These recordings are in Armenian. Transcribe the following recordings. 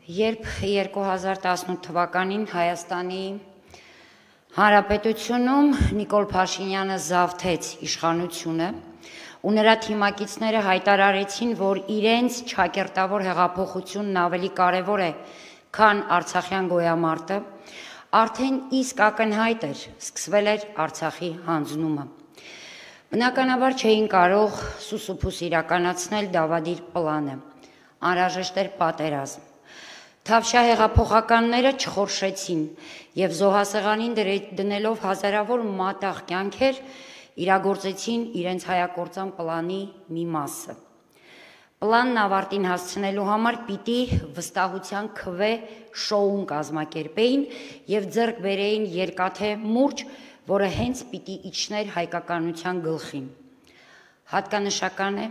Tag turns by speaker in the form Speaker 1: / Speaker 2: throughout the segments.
Speaker 1: Երբ 2018 թվականին Հայաստանի Հանրապետությունում Նիկոլ Փաշինյանը զավթեց իշխանությունը ու նրա թիմակիցները հայտարարեցին, որ իրենց չակերտավոր հեղափոխությունն ավելի կարևոր է, քան Արցախյան գոյամարտը, արդեն իսկ ակնհայտ էր, սկսվել էր Արցախի հանձնումը։ Բնականաբար չէին կարող սուսուփուս իրականացնել դավադիր պլանը, անհրաժեշտ էր պատերազմ։ Թավշյա հեղափոխականները չխորշեցին և զոհասեղանին դնելով հազարավոր մատաղ կյանքեր իրագործեցին իրենց հայակործան պլանի մի մասը։ Պլանն ավարտին հասցնելու համար պիտի վստահության քվե շոուն կազմակերպեին և ձեռք բերեին երկաթե մուրճ, որը հենց պիտի իջներ հայկականության գլխին։ Հատկանշական է,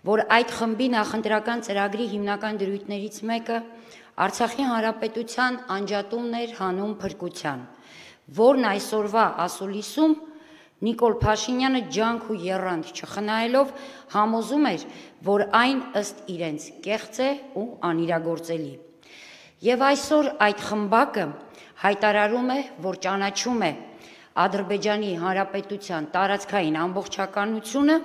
Speaker 1: որ այդ խմբի նախընտրական ծրագրի հիմնական դրույթներից մեկը Արցախի Հանրապետության անջատումն էր հանուն փրկության, որն այսօրվա ասուլիսում Նիկոլ Փաշինյանը ջանք ու եռանդ չխնայելով համոզում էր, որ այն ըստ իրենց կեղծ է ու անիրագործելի։ Եվ այսօր այդ խմբակը հայտարարում է, որ ճանաչում է Ադրբեջանի Հանրապետության տարածքային ամբողջականությունը,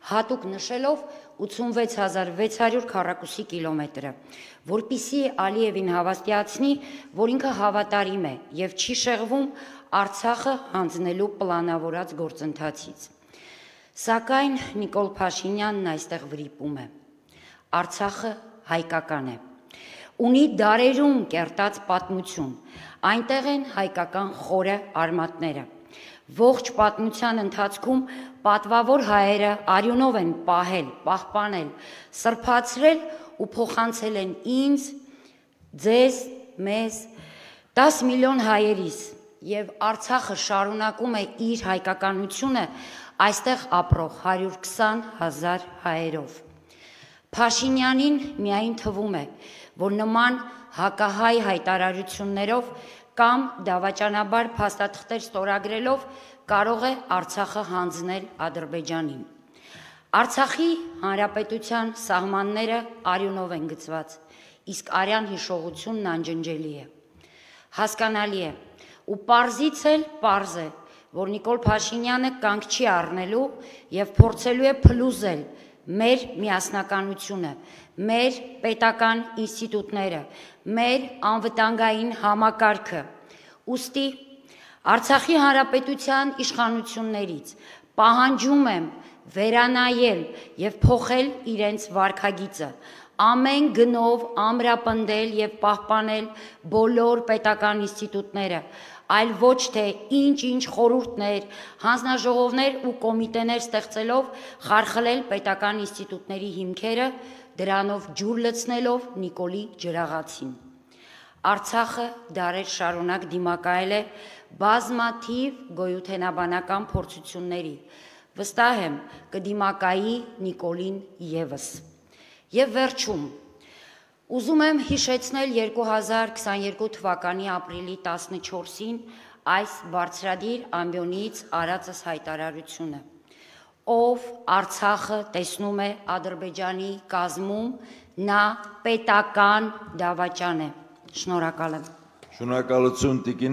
Speaker 1: հատուկ նշելով 86600 քառակուսի կիլոմետրը, որպեսզի Ալիևին հավաստիացնի, որ ինքը հավատարիմ է և չի շեղվում Արցախը հանձնելու պլանավորած գործընթացից։ Սակայն Նիկոլ Փաշինյանն այստեղ վրիպում է։ Արցախը հայկական է, ունի դարերում կերտած պատմություն, այնտեղ են հայկական խորը արմատները։ Ողջ պատմության ընթացքում պատվավոր հայերը արյունով են պահել, պահպանել, սրբացրել ու փոխանցել են ինձ, ձեզ, մեզ, 10 միլիոն հայերիս, և Արցախը շարունակում է իր հայկականությունը այստեղ ապրող 120 000 հայերով։ Փաշինյանին միայն թվում է, որ նման հակահայ հայտարարություններով կամ դավաճանաբար փաստաթղթեր ստորագրելով կարող է Արցախը հանձնել Ադրբեջանին։ Արցախի Հանրապետության սահմանները արյունով են գծված, իսկ արյան հիշողությունն անջնջելի է։ Հասկանալի է ու պարզից էլ պարզ է, որ Նիկոլ Փաշինյանը կանգ չի առնելու և փորձելու է փլուզել մեր միասնականությունը, մեր պետական ինստիտուտները, մեր անվտանգային համակարգը։ Ուստի Արցախի Հանրապետության իշխանություններից պահանջում եմ վերանայել և փոխել իրենց վարքագիծը, ամեն գնով ամրապնդել և պահպանել բոլոր պետական ինստիտուտները, այլ ոչ թե ինչ-ինչ խորհուրդներ, հանձնաժողովներ ու կոմիտեներ ստեղծելով խարխլել պետական ինստիտուտների հիմքերը, դրանով ջուր լցնելով Նիկոլի ջրաղացին։ Արցախը դարեր շարունակ դիմակայել է բազմաթիվ գոյութենաբանական փորձությունների, վստահ եմ կդիմակայի Նիկոլին ևս։ Եվ վերջում, ուզում եմ հիշեցնել 2022 թվականի ապրիլի 14-ին այս բարձրադիր ամբիոնից արածս հայտարարությունը, ով Արցախը տեսնում է Ադրբեջանի կազմում, նա պետական դավաճան է։ Շնորհակալ եմ։
Speaker 2: Շնորհակալություն տիկին